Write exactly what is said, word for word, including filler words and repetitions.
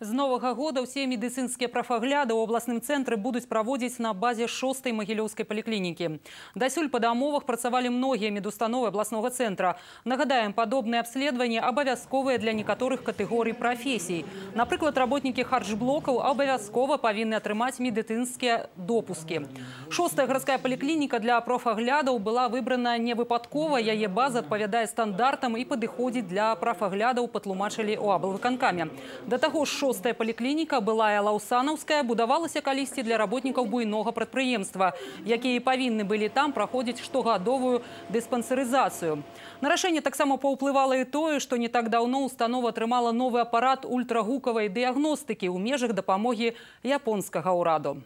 З новага года ўсе медыцынскія прафагляды ў абласным цэнтры будуць праводзіць на базе шостай магілёўскай паліклінікі. Дасюль па дамовах працавалі многія медустановы абласнога цэнтра. Нагадаем, падобныя абследаванні абавязковыя для некаторых катэгорый прафесій. Напрыклад, работнікі харчблокаў абавязкова павінны атрымаць медыцынскія допускі. Шостая гарадская паліклініка для прафаглядаў была выбрана не выпадкова. Яе база адпавядае стандартам і падыходзіць для прафаглядаў, патлумачылі ў аблвыканкаме. Да таго ж, шостая паліклініка, былая лаўсанаўская, будавалася калісьці для работнікаў буйнога прадпрыемства, якія павінны былі там праходзіць штогадовую дыспансерызацыю. На рашэнне таксама паўплывала і тое, што не так даўно установа атрымала новы апарат ультрагукавай дыягностыкі ў межах дапамогі японскага ўраду.